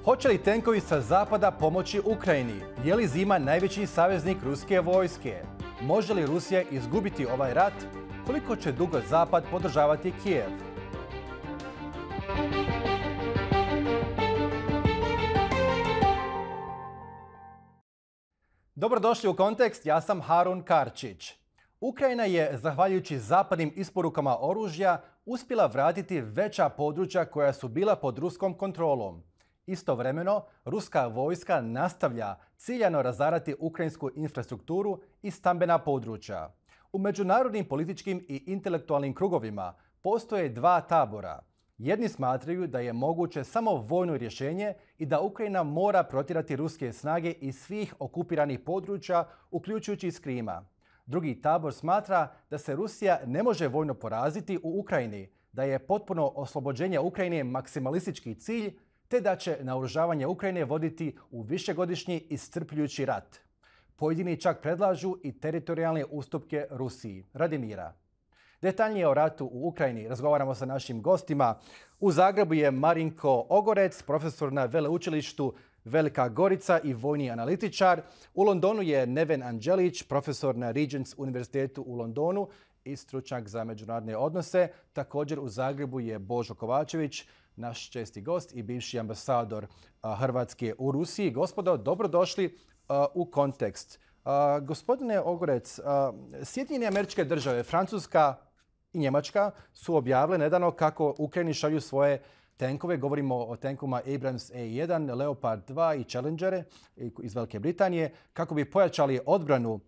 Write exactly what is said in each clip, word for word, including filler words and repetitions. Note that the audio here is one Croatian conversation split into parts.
Hoće li tenkovi sa zapada pomoći Ukrajini? Je li zima najveći saveznik ruske vojske? Može li Rusija izgubiti ovaj rat? Koliko će dugo zapad podržavati Kijev? Dobrodošli u Kontekst, ja sam Harun Karčić. Ukrajina je, zahvaljujući zapadnim isporukama oružja, uspjela vratiti veća područja koja su bila pod ruskom kontrolom. Istovremeno, ruska vojska nastavlja ciljano razarati ukrajinsku infrastrukturu i stambena područja. U međunarodnim političkim i intelektualnim krugovima postoje dva tabora. Jedni smatraju da je moguće samo vojno rješenje i da Ukrajina mora protjerati ruske snage iz svih okupiranih područja, uključujući iz Krima. Drugi tabor smatra da se Rusija ne može vojno poraziti u Ukrajini, da je potpuno oslobođenje Ukrajine maksimalistički cilj, te da će naoružavanje Ukrajine voditi u višegodišnji iscrpljujući rat. Pojedini čak predlažu i teritorijalne ustupke Rusiji radi mira. Detaljnije o ratu u Ukrajini razgovaramo sa našim gostima. U Zagrebu je Marinko Ogorec, profesor na veleučilištu Velika Gorica i vojni analitičar. U Londonu je Neven Anđelić, profesor na Regents Univerzitetu u Londonu i stručnjak za međunarodne odnose. Također u Zagrebu je Božo Kovačević, naš česti gost i bivši ambasador Hrvatske u Rusiji. Gospodo, dobrodošli u Kontekst. Gospodine Ogorec, Sjedinjene Američke Države, Francuska i Njemačka su objavile nedavno kako Ukrajini šalju svoje tenkove. Govorimo o tenkovima Abrams E jedan, Leopard dva i Challengere iz Velike Britanije, kako bi pojačali odbranu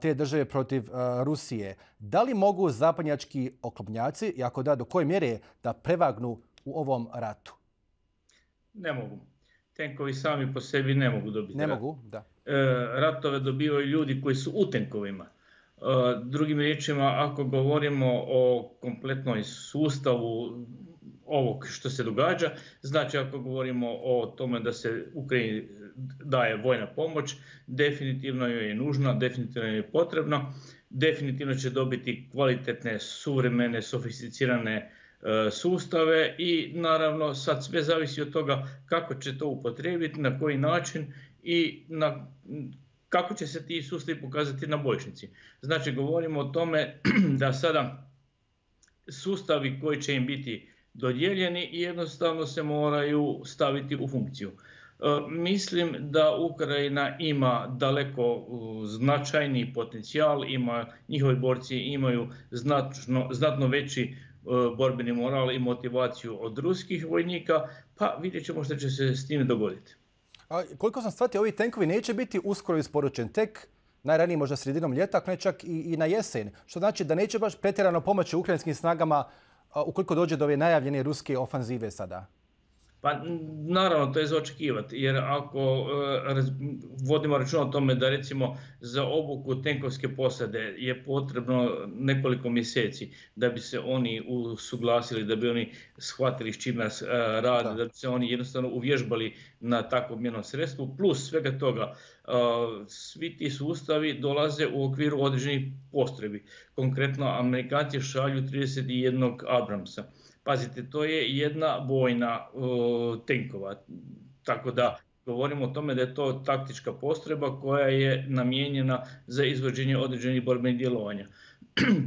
te države protiv Rusije. Da li mogu zapadnjački oklopnjaci, i ako da, do koje mjere da prevagnu u ovom ratu? Ne mogu. Tenkovi sami po sebi ne mogu dobiti Ne rat. mogu, da. E, ratove dobivaju ljudi koji su u tenkovima. E, drugim riječima, ako govorimo o kompletnoj sustavu ovog što se događa, znači ako govorimo o tome da se Ukrajini daje vojna pomoć, definitivno joj je nužna, definitivno joj je potrebna, definitivno će dobiti kvalitetne, suvremene, sofisticirane sustave i naravno sad sve zavisi od toga kako će to upotrijebiti, na koji način i na, kako će se ti sustavi pokazati na bojišnici. Znači govorimo o tome da sada sustavi koji će im biti dodijeljeni jednostavno se moraju staviti u funkciju. Mislim da Ukrajina ima daleko značajniji potencijal, ima, njihovi borci imaju znatno, znatno veći borbeni moral i motivaciju od ruskih vojnika, pa vidjet ćemo što će se s time dogoditi. A, koliko sam shvatio, ovi tenkovi neće biti uskoro isporučeni, tek najranije možda sredinom ljeta, ako ne čak i, i na jesen. Što znači da neće baš pretjerano pomoći ukrajinskim snagama a, ukoliko dođe do ove najavljene ruske ofanzive sada. Pa naravno to je za očekivati, jer ako e, vodimo računa o tome da recimo za obuku tenkovske posade je potrebno nekoliko mjeseci da bi se oni usuglasili, da bi oni shvatili s čime rade, da. da bi se oni jednostavno uvježbali na takvom jednom sredstvu, plus svega toga e, svi ti sustavi dolaze u okviru određenih postrojbi. Konkretno Amerikanci šalju trideset jedan Abramsa. Pazite, to je jedna vojna uh, tenkova, tako da govorimo o tome da je to taktička postrojba koja je namijenjena za izvođenje određenih borbenih djelovanja.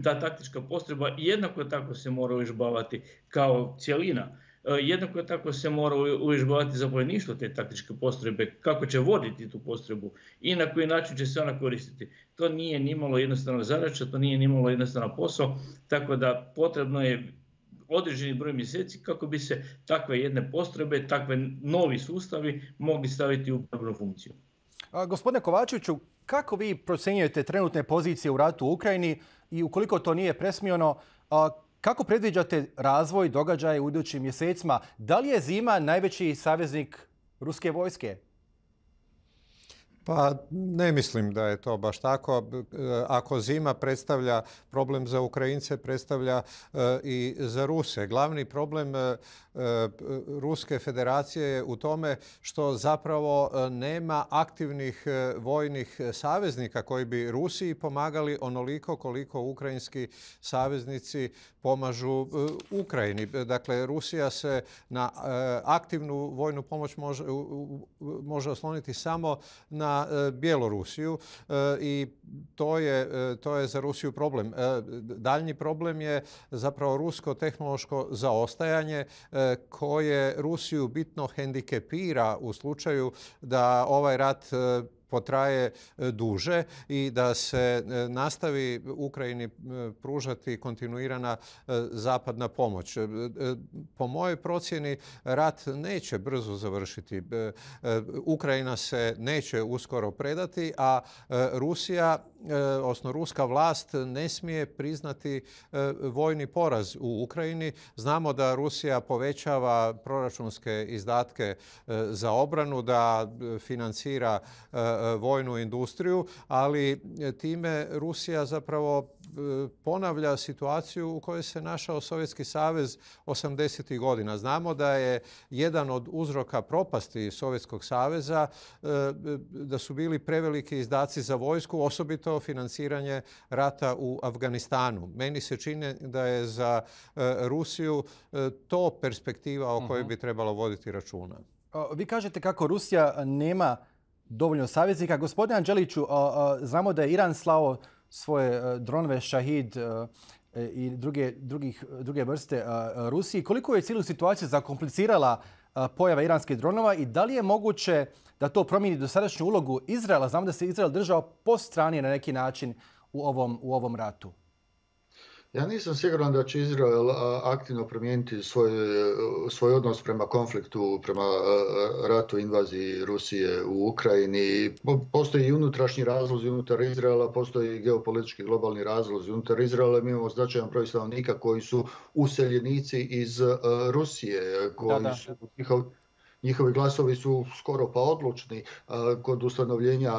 Ta taktička postrojba jednako tako se mora uvježbavati kao cjelina. Uh, jednako tako se mora uvježbavati zapovjedništvo te taktičke postrojbe, kako će voditi tu postrojbu i na koji način će se ona koristiti. To nije nimalo jednostavna zadaća, to nije nimalo jednostavan posao, tako da potrebno je određeni broj mjeseci kako bi se takve jedne postrojbe, takve novi sustavi mogli staviti u borbenu funkciju. A, gospodine Kovačeviću, kako vi procjenjujete trenutne pozicije u ratu u Ukrajini i ukoliko to nije presmijeno, a, kako predviđate razvoj događaja u idućim mjesecima? Da li je zima najveći saveznik ruske vojske? Pa ne mislim da je to baš tako. Ako zima predstavlja problem za Ukrajince, predstavlja i za Ruse. Glavni problem Ruske federacije je u tome što zapravo nema aktivnih vojnih saveznika koji bi Rusiji pomagali onoliko koliko ukrajinski saveznici pomažu Ukrajini. Dakle, Rusija se na aktivnu vojnu pomoć može, može osloniti samo na Bjelorusiju i to je, to je za Rusiju problem. Daljnji problem je zapravo rusko tehnološko zaostajanje koje Rusiju bitno hendikepira u slučaju da ovaj rat potraje duže i da se nastavi Ukrajini pružati kontinuirana zapadna pomoć. Po mojoj procjeni rat neće brzo završiti. Ukrajina se neće uskoro predati, a Rusija, odnosno ruska vlast, ne smije priznati vojni poraz u Ukrajini. Znamo da Rusija povećava proračunske izdatke za obranu, da financira vojnu industriju, ali time Rusija zapravo ponavlja situaciju u kojoj se našao Sovjetski savez osamdesetih godina. Znamo da je jedan od uzroka propasti Sovjetskog saveza da su bili preveliki izdaci za vojsku, osobito financiranje rata u Afganistanu. Meni se čini da je za Rusiju to perspektiva o kojoj bi trebalo voditi računa. Vi kažete kako Rusija nema dovoljno saveznika. Gospodine Anđeliću, znamo da je Iran slao svoje dronove Šahid i druge, drugih, druge vrste Rusiji. Koliko je cijelu situaciju zakomplicirala pojava iranskih dronova i da li je moguće da to promijeni dosadašnju ulogu Izraela? Znamo da se Izrael držao po strani na neki način u ovom, u ovom ratu. Ja nisam siguran da će Izrael aktivno promijeniti svoj, svoj odnos prema konfliktu, prema ratu, invaziji Rusije u Ukrajini. Postoji i unutrašnji razlozi unutar Izraela, postoji i geopolitički globalni razlozi unutar Izraela. Mi imamo značajan broj stanovnika koji su useljenici iz Rusije, koji da, da. su njihov, njihovi glasovi su skoro pa odlučni kod ustanovljenja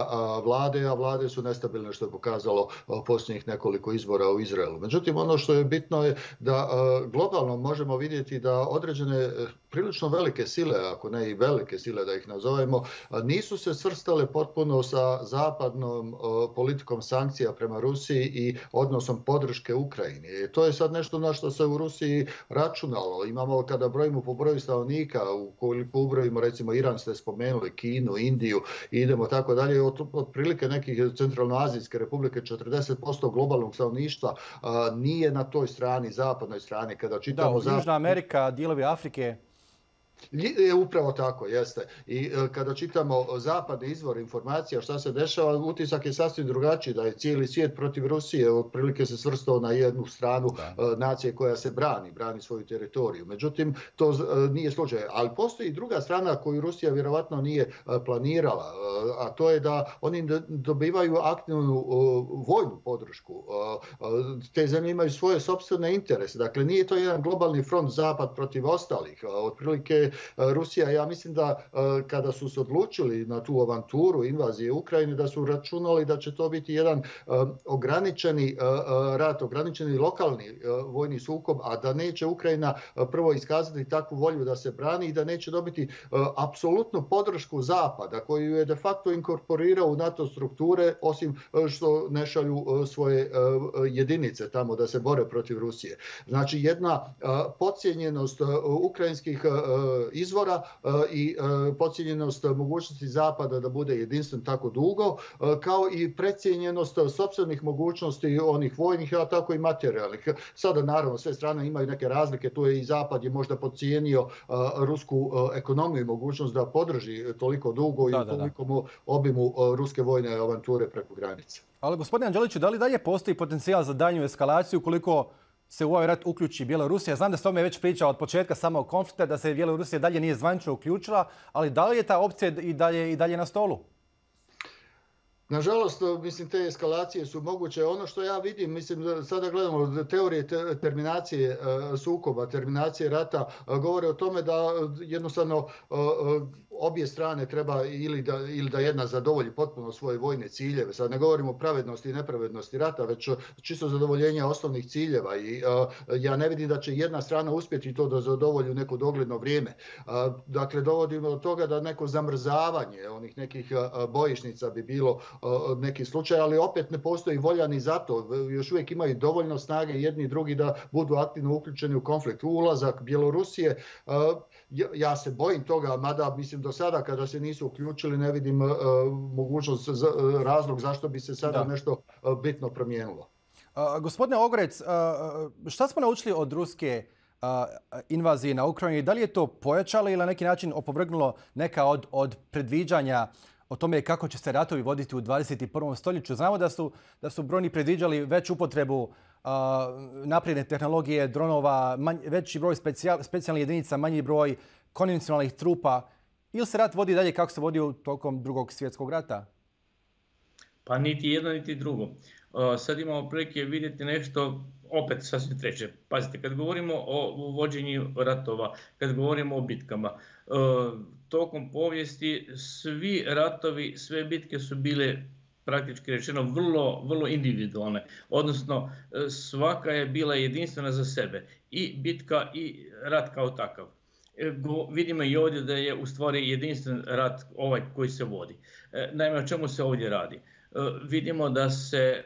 vlade, a vlade su nestabilne, što je pokazalo posljednjih nekoliko izbora u Izraelu. Međutim, ono što je bitno je da globalno možemo vidjeti da određene prilično velike sile, ako ne i velike sile da ih nazovemo, nisu se svrstale potpuno sa zapadnom politikom sankcija prema Rusiji i odnosom podrške Ukrajini. I to je sad nešto na što se u Rusiji računalo. Imamo, kada brojimo po broju stanovnika, ukoliko ubrojimo recimo Iran, ste spomenuli, Kinu, Indiju i idemo tako dalje, od, otprilike nekih centralnoazijske republike, četrdeset posto globalnog stanovništva nije na toj strani, zapadnoj strani. Kada čitamo da, Južna Amerika, dijelovi Afrike. Je upravo tako, jeste. I kada čitamo zapadne izvore informacija šta se dešava, utisak je sasvim drugačiji, da je cijeli svijet protiv Rusije, otprilike se svrstao na jednu stranu da. nacije koja se brani, brani svoju teritoriju. Međutim, to nije slučaj. Ali postoji i druga strana koju Rusija vjerovatno nije planirala, a to je da oni dobivaju aktivnu vojnu podršku. Te zemlje imaju svoje sopstvene interese. Dakle, nije to jedan globalni front zapad protiv ostalih. Otprilike Rusija, ja mislim da kada su se odlučili na tu avanturu invazije Ukrajine, da su računali da će to biti jedan ograničeni rat, ograničeni lokalni vojni sukob, a da neće Ukrajina prvo iskazati takvu volju da se brani i da neće dobiti apsolutnu podršku Zapada, koju je de facto inkorporirao u NATO strukture, osim što ne šalju svoje jedinice tamo da se bore protiv Rusije. Znači, jedna podcijenjenost ukrajinskih izvora i podcijenjenost mogućnosti Zapada da bude jedinstven tako dugo, kao i precijenjenost sopstvenih mogućnosti onih vojnih, a tako i materijalnih. Sada naravno sve strane imaju neke razlike, tu je i Zapad je možda podcijenio rusku ekonomiju i mogućnost da podrži toliko dugo da, i u tolikom obimu ruske vojne avanture preko granice. Ali gospodine Anđeliću, da li dalje postoji potencijal za daljnju eskalaciju ukoliko se u ovaj rat uključi Bjelorusija? Znam da se o tome već priča od početka samog konflikta, da se Bjelorusija dalje nije zvanično uključila, ali da li je ta opcija i dalje, i dalje na stolu? Nažalost, mislim, te eskalacije su moguće. Ono što ja vidim, mislim, sada gledamo teorije te, terminacije e, sukoba, terminacije rata, e, govore o tome da jednostavno e, obje strane treba ili da, ili da jedna zadovolji potpuno svoje vojne ciljeve. Sad ne govorimo o pravednosti i nepravednosti rata, već čisto zadovoljenje osnovnih ciljeva. I uh, ja ne vidim da će jedna strana uspjeti to da zadovolji u neko dogledno vrijeme. Uh, dakle, dovodimo do toga da neko zamrzavanje onih nekih uh, bojišnica bi bilo uh, neki slučaj, ali opet ne postoji volja ni za to. Još uvijek imaju dovoljno snage jedni i drugi da budu aktivno uključeni u konflikt. Ulazak Bjelorusije, uh, ja, ja se bojim toga, mada mislim do sada kada se nisu uključili ne vidim uh, mogućnost, za, uh, razlog zašto bi se sada da. nešto uh, bitno promijenilo. Uh, gospodine Ogorec, uh, šta smo naučili od ruske uh, invazije na Ukrajinu? Da li je to pojačalo ili na neki način opovrgnulo neka od, od predviđanja o tome kako će se ratovi voditi u dvadeset prvom stoljeću? Znamo da su, da su brojni predviđali veću upotrebu uh, napredne tehnologije, dronova, manj, veći broj specijal, specijalnih jedinica, manji broj konvencionalnih trupa. Ili se rat vodi dalje kako se vodio tokom drugog svjetskog rata? Pa niti jedno, niti drugo. Uh, sad imamo prilike vidjeti nešto opet sasvim treće. Pazite, kad govorimo o vođenju ratova, kad govorimo o bitkama, uh, tokom povijesti svi ratovi, sve bitke su bile praktički rečeno vrlo, vrlo individualne. Odnosno, svaka je bila jedinstvena za sebe. I bitka i rat kao takav. Vidimo i ovdje da je u stvari jedinstven rat ovaj koji se vodi. Naime, o čemu se ovdje radi? Vidimo da se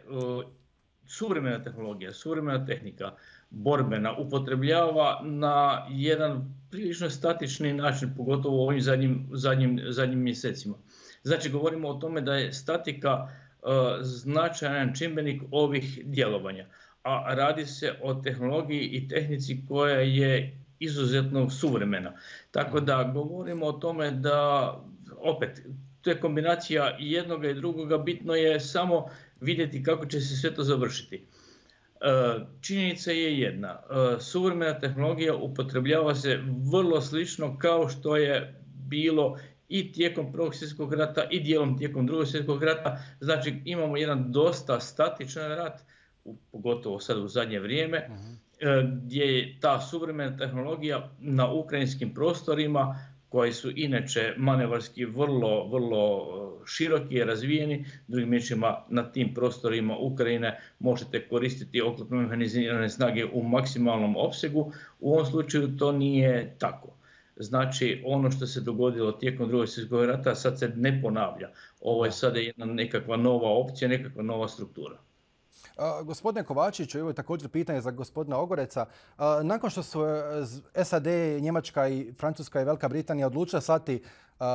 suvremena tehnologija, suvremena tehnika, borbena, upotrebljava na jedan prilično statični način, pogotovo u ovim zadnjim, zadnjim, zadnjim mjesecima. Znači, govorimo o tome da je statika uh, značajan čimbenik ovih djelovanja, a radi se o tehnologiji i tehnici koja je izuzetno suvremena. Tako da govorimo o tome da, opet, to je kombinacija i jednoga i drugoga, bitno je samo vidjeti kako će se sve to završiti. Činjenica je jedna, suvremena tehnologija upotrebljava se vrlo slično kao što je bilo i tijekom Prvog svjetskog rata i dijelom tijekom Drugog svjetskog rata. Znači imamo jedan dosta statičan rat, pogotovo sad u zadnje vrijeme, uh-huh. gdje je ta suvremena tehnologija na ukrajinskim prostorima, koji su inače manevarski vrlo, vrlo široki i razvijeni. Drugim riječima, na tim prostorima Ukrajine možete koristiti oklopno mehanizirane snage u maksimalnom opsegu. U ovom slučaju to nije tako. Znači, ono što se dogodilo tijekom Drugog svjetskog rata sad se ne ponavlja. Ovo je sada jedna nekakva nova opcija, nekakva nova struktura. Uh, gospodine Kovačiću, ovo je također pitanje za gospodina Ogoreca. Uh, nakon što su S A D, Njemačka i Francuska i Velika Britanija odlučila slati uh,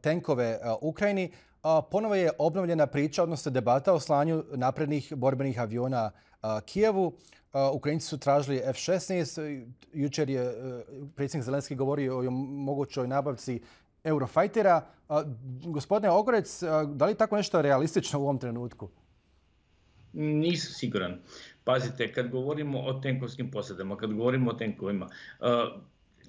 tenkove uh, Ukrajini, uh, ponovo je obnovljena priča, odnosno debata o slanju naprednih borbenih aviona uh, Kijevu. Uh, Ukrajinci su tražili F šesnaest. Jučer je uh, predsjednik Zelenski govorio o mogućoj nabavci Eurofightera. Uh, gospodine Ogorec, uh, da li je tako nešto realistično u ovom trenutku? Nisam siguran. Pazite, kad govorimo o tenkovskim posadama, kad govorimo o tenkovima, uh,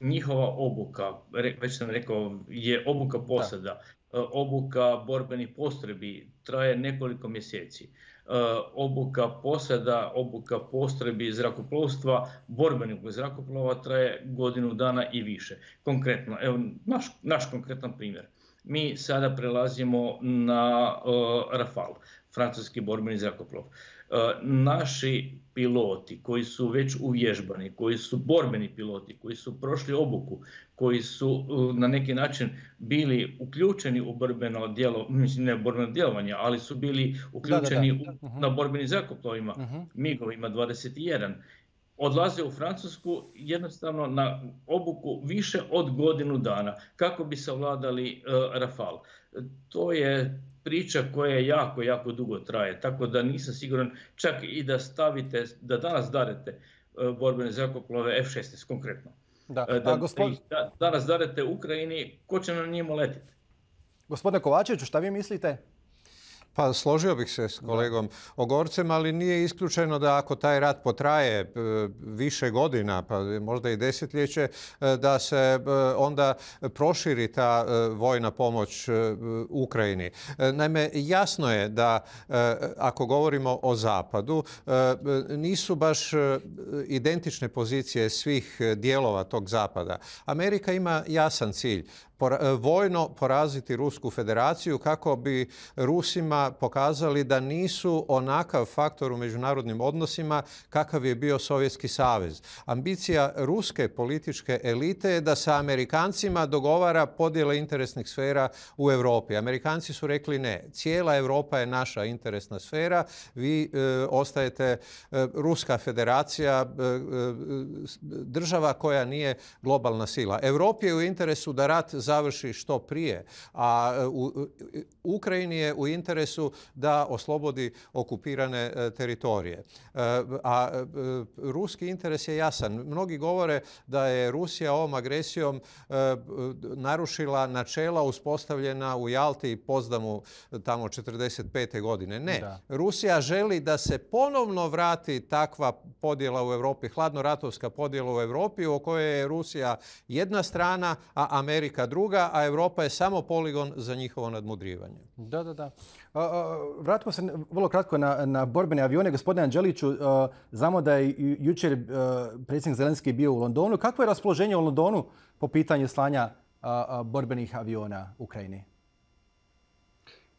njihova obuka, već sam rekao, je obuka posada, uh, obuka borbenih postrojbi traje nekoliko mjeseci. Uh, obuka posada, obuka postrojbi zrakoplovstva, borbenih zrakoplova traje godinu dana i više. Konkretno, evo naš, naš konkretan primjer. Mi sada prelazimo na uh, Rafale, francuski borbeni zrakoplov. Uh, naši piloti koji su već uvježbani, koji su borbeni piloti, koji su prošli obuku, koji su uh, na neki način bili uključeni u borbeno djelo, mislim ne borbeno djelovanje, ali su bili uključeni da, da, da. U, na borbenim zrakoplovima, uh-huh. migovima dvadeset jedan. Odlaze u Francusku jednostavno na obuku više od godinu dana kako bi savladali uh, Rafale. To je priča koja jako, jako dugo traje, tako da nisam siguran čak i da stavite, da danas darete uh, borbene zrakoplove F šesnaest konkretno. Da. Uh, da, gospod... da danas darete Ukrajini, ko će na njima letiti? Gospodine Kovačeviću, šta vi mislite? Pa složio bih se s kolegom Ogorcem, ali nije isključeno da ako taj rat potraje više godina, pa možda i desetljeće, da se onda proširi ta vojna pomoć Ukrajini. Naime, jasno je da ako govorimo o Zapadu, nisu baš identične pozicije svih dijelova tog Zapada. Amerika ima jasan cilj. Vojno poraziti Rusku federaciju kako bi Rusima pokazali da nisu onakav faktor u međunarodnim odnosima kakav je bio Sovjetski savez. Ambicija ruske političke elite je da sa Amerikancima dogovara podjele interesnih sfera u Europi. Amerikanci su rekli ne, cijela Europa je naša interesna sfera, vi e, ostajete e, Ruska federacija, e, e, država koja nije globalna sila. Europi je u interesu da rat završi što prije, a u Ukrajini je u interesu da oslobodi okupirane teritorije. A ruski interes je jasan. Mnogi govore da je Rusija ovom agresijom narušila načela uspostavljena u Jalti i Pozdamu tamo četrdeset pete godine. Ne. Da. Rusija želi da se ponovno vrati takva podjela u Europi, hladnoratovska podjela u Europi u kojoj je Rusija jedna strana, a Amerika druga, a Europa je samo poligon za njihovo nadmudrivanje. Da, da, da. Vratimo se vrlo kratko na, na borbene avione. Gospodine Anđeliću, znamo da je jučer predsjednik Zelenski bio u Londonu. Kakvo je raspoloženje u Londonu po pitanju slanja borbenih aviona Ukrajini?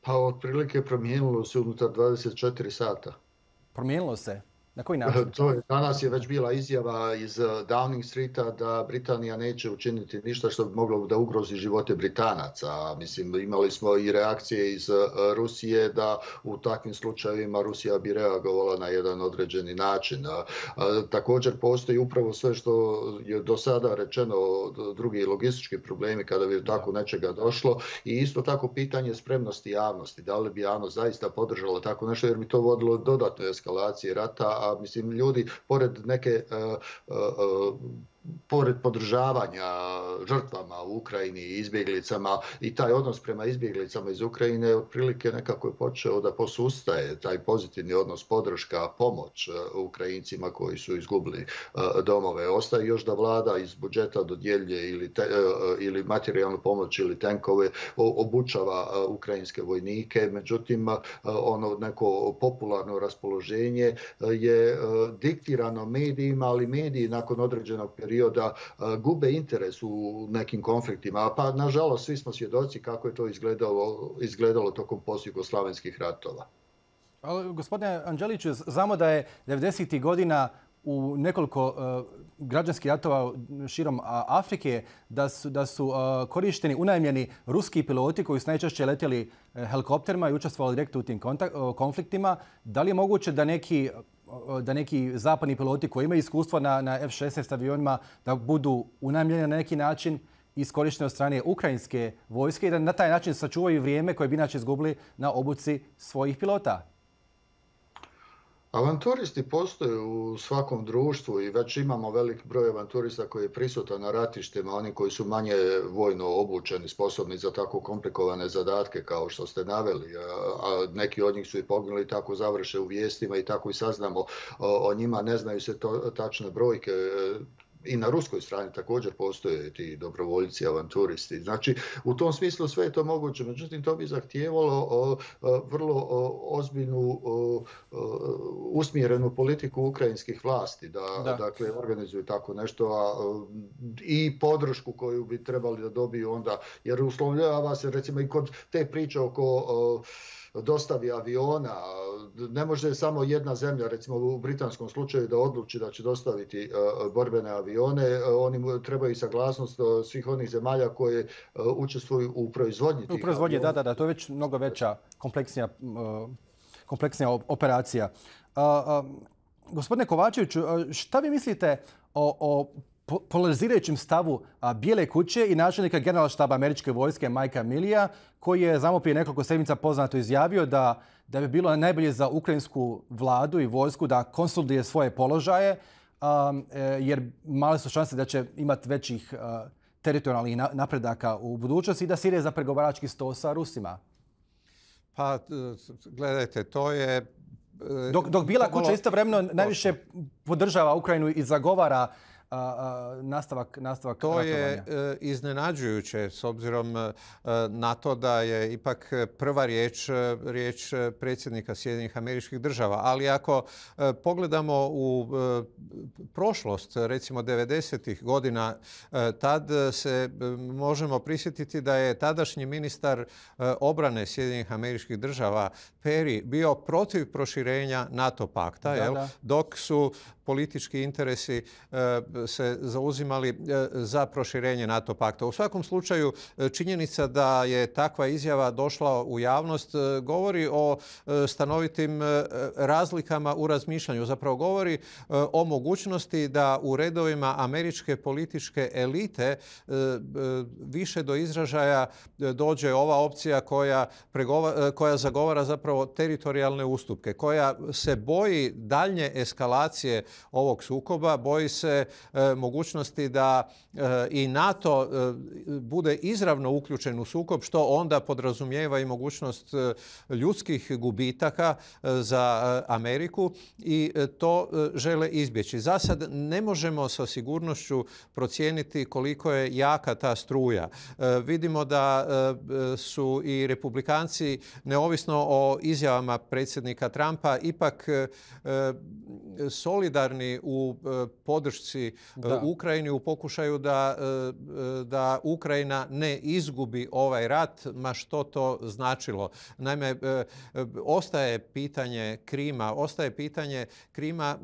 Pa otprilike promijenilo se unutar dvadeset četiri sata. Promijenilo se? Na koji način? To je, danas je već bila izjava iz Downing Streeta da Britanija neće učiniti ništa što bi moglo da ugrozi živote Britanaca. Mislim, imali smo i reakcije iz Rusije da u takvim slučajevima Rusija bi reagovala na jedan određeni način. Također postoji upravo sve što je do sada rečeno, drugi logistički problemi kada bi tako nečega došlo i isto tako pitanje spremnosti javnosti. Da li bi javnost zaista podržala tako nešto jer bi to vodilo dodatno eskalacije rata, a mislim ljudi pored neke uh, uh, pored podržavanja žrtvama u Ukrajini i izbjeglicama i taj odnos prema izbjeglicama iz Ukrajine otprilike nekako je počeo da posustaje taj pozitivni odnos, podrška, pomoć Ukrajincima koji su izgubili domove. Ostaje još da vlada iz budžeta dodjeljuje ili, te, ili materijalnu pomoć ili tenkove, obučava ukrajinske vojnike, međutim ono neko popularno raspoloženje je diktirano medijima, ali mediji nakon određenog perioda perioda gube interes u nekim konfliktima, pa nažalost svi smo svjedoci kako je to izgledalo, izgledalo tokom postjugoslavenskih ratova. Ali, gospodine Anđeliću, znamo da je devedesetih godina u nekoliko uh, građanskih ratova širom Afrike da su, da su uh, korišteni unajmljeni ruski piloti koji su najčešće letjeli uh, helikopterima i učestvovali direktno u tim kontakt, uh, konfliktima. Da li je moguće da neki, uh, da neki zapadni piloti koji imaju iskustva na, na F šesnaest avionima da budu unajmljeni na neki način iskorišteni od strane ukrajinske vojske i da na taj način sačuvaju vrijeme koje bi inače izgubili na obuci svojih pilota? Avanturisti postoje u svakom društvu i već imamo velik broj avanturista koji je prisutan na ratištima, oni koji su manje vojno obučeni, sposobni za tako komplikovane zadatke kao što ste naveli. A neki od njih su i poginuli, tako završe u vijestima i tako i saznamo o, o njima, ne znaju se to, tačne brojke. I na ruskoj strani također postoje ti dobrovoljci, avanturisti. Znači, u tom smislu sve je to moguće. Međutim, to bi zahtijevalo o, o, vrlo o, ozbiljnu, o, o, usmjerenu politiku ukrajinskih vlasti, da, da. Dakle, organizuju tako nešto a, i podršku koju bi trebali da dobiju onda, jer uslovljava se recimo i kod te priče oko o, dostavi aviona. Ne može samo jedna zemlja, recimo u britanskom slučaju, da odluči da će dostaviti uh, borbene avione. Oni trebaju saglasnost uh, svih onih zemalja koje uh, učestvuju u proizvodnji tih U proizvodnji, aviona. Da, da, da. To je već mnogo veća, kompleksnija, uh, kompleksnija operacija. Uh, uh, gospodine Kovačeviću, šta vi mislite o, o polarizirajućem stavu Bijele kuće i načelnika generalštaba američke vojske Mikea Millija, koji je samo prije nekoliko sedmica poznato izjavio da, da bi bilo najbolje za ukrajinsku vladu i vojsku da konsoliduje svoje položaje, um, jer male su šanse da će imati većih uh, teritorijalnih napredaka u budućnosti i da se ide za pregovarački sto sa Rusima. Pa, gledajte, to je... Dok, dok Bijela kuća istovremeno najviše podržava Ukrajinu i zagovara a, a, nastavak, nastavak to ratovanja. je e, iznenađujuće s obzirom e, na to da je ipak prva riječ, e, riječ predsjednika Sjedinjenih Američkih Država. Ali ako e, pogledamo u e, prošlost, recimo devedesetih godina, e, tad se e, možemo prisjetiti da je tadašnji ministar e, obrane Sjedinjenih Američkih Država Perry bio protiv proširenja NATO pakta, Da, jel? da. Dok su politički interesi e, se zauzimali e, za proširenje NATO pakta. U svakom slučaju, e, činjenica da je takva izjava došla u javnost e, govori o e, stanovitim e, razlikama u razmišljanju. Zapravo govori e, o mogućnosti da u redovima američke političke elite e, e, više do izražaja e, dođe ova opcija koja, pregova, e, koja zagovara zapravo teritorijalne ustupke, koja se boji daljnje eskalacije ovog sukoba, boji se e, mogućnosti da e, i NATO e, bude izravno uključen u sukob, što onda podrazumijeva i mogućnost e, ljudskih gubitaka e, za e, Ameriku i e, to e, žele izbjeći. Za sad ne možemo sa sigurnošću procijeniti koliko je jaka ta struja. E, vidimo da e, su i republikanci, neovisno o izjavama predsjednika Trumpa, ipak e, solidarni u e, podršci Da. Ukrajini u pokušaju da, da Ukrajina ne izgubi ovaj rat, ma što to značilo. Naime, ostaje pitanje Krima, ostaje pitanje Krima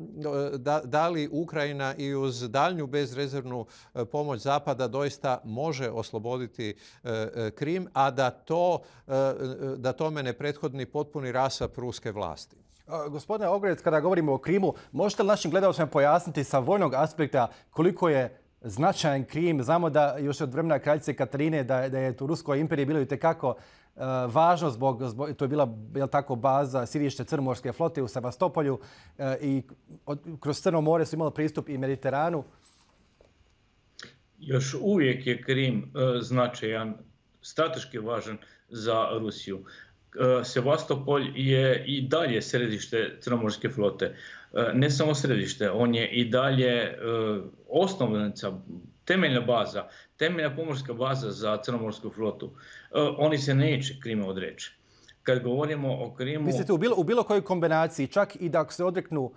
da, da li Ukrajina i uz daljnju bezrezervnu pomoć Zapada doista može osloboditi Krim, a da, to, da tome ne prethodni potpuni rasap ruske vlasti. Gospodine Ogrec, kada govorimo o Krimu, možete li našim gledalcima pojasniti sa vojnog aspekta koliko je značajan Krim? Znamo da još od vremena kraljice Katarine da, da je u Ruskoj imperiji bilo itekako uh, važno zbog, zbog, to je bila jel tako, baza sirište Crnomorske flote u Sevastopolju uh, i od, kroz Crno more su imali pristup i Mediteranu. Još uvijek je Krim uh, značajan, strateški važan za Rusiju. Sevastopol je i dalje središte Crnomorske flote. Ne samo središte, on je i dalje osnovnica, temeljna baza, temeljna pomorska baza za Crnomorsku flotu. Oni se neće Krima odreći. Kad govorimo o Krimu... Mislite u bilo, u bilo kojoj kombinaciji, čak i da se odreknu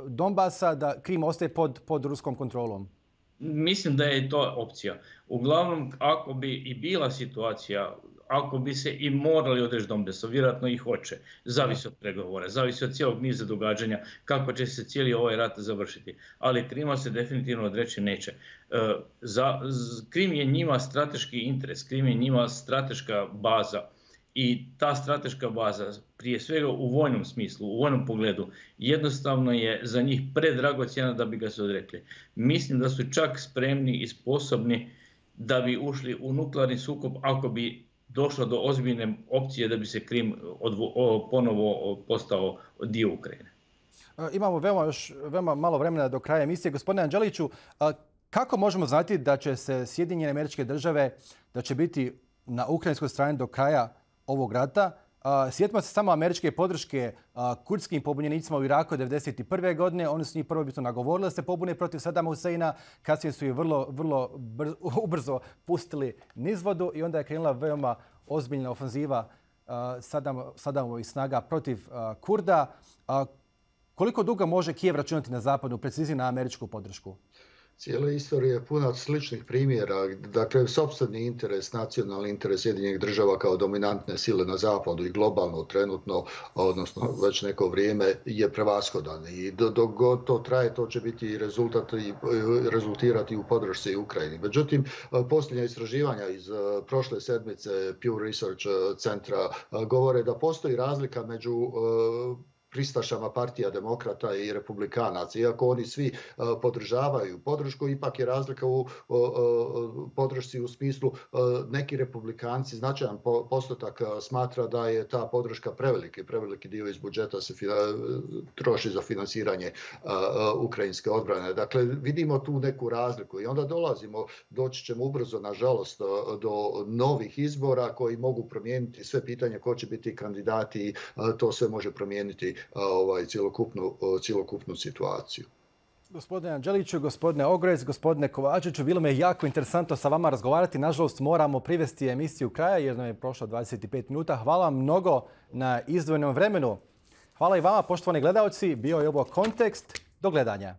Donbasa, da Krim ostaje pod, pod ruskom kontrolom? Mislim da je to opcija. Uglavnom, ako bi i bila situacija, ako bi se i morali odreći Donbasa, vjerojatno ih hoće. Zavisi od pregovora, zavisi od cijelog niza događanja, kako će se cijeli ovaj rat završiti. Ali Krima se definitivno odreći neće. Za, Krim je njima strateški interes, Krim je njima strateška baza. I ta strateška baza, prije svega u vojnom smislu, u vojnom pogledu, jednostavno je za njih predragocjena da bi ga se odrekli. Mislim da su čak spremni i sposobni da bi ušli u nuklearni sukob ako bi došlo do ozbiljne opcije da bi se Krim odvo, o, ponovo postao dio Ukrajine. Imamo veoma, još, veoma malo vremena do kraja emisije. Gospodine Anđeliću, kako možemo znati da će se Sjedinjene Američke Države, da će biti na ukrajinskoj strani do kraja ovog rata? Sjetimo se samo američke podrške kurdskim pobunjenicima u Iraku devedeset prve godine. Oni su njih prvobitno nagovorili da se pobune protiv Sadama Huseina. Kasnije su ih vrlo, vrlo brzo, ubrzo pustili nizvodu i onda je krenula veoma ozbiljna ofenziva Sadam, Sadamovih snaga protiv Kurda. Koliko dugo može Kijev računati na zapadnu, preciznije na američku podršku? Cijela istorija je puna sličnih primjera. Dakle, sopstveni interes, nacionalni interes Sjedinjenih Država kao dominantne sile na zapadu i globalno trenutno, odnosno već neko vrijeme, je prevashodan. I dok god to traje, to će biti rezultat i rezultirati u podršci Ukrajini. Međutim, posljednja istraživanja iz prošle sedmice Pew Research centra govore da postoji razlika među pristašama partija demokrata i republikanaca. Iako oni svi podržavaju podršku, ipak je razlika u podršci u smislu neki republikanci, značajan postotak smatra da je ta podrška preveliki, preveliki dio iz budžeta se troši za finansiranje ukrajinske odbrane. Dakle, vidimo tu neku razliku i onda dolazimo, doći ćemo ubrzo, nažalost, do novih izbora koji mogu promijeniti sve pitanje ko će biti kandidati i to sve može promijeniti ovaj, cjelokupnu, cjelokupnu situaciju. Gospodine Anđeliću, gospodine Ogrez, gospodine Kovačiću, bilo me jako interesantno sa vama razgovarati. Nažalost, moramo privesti emisiju kraja jer nam je prošlo dvadeset pet minuta. Hvala vam mnogo na izdvojenom vremenu. Hvala i vama, poštovani gledalci. Bio je ovo Kontekst. Do gledanja.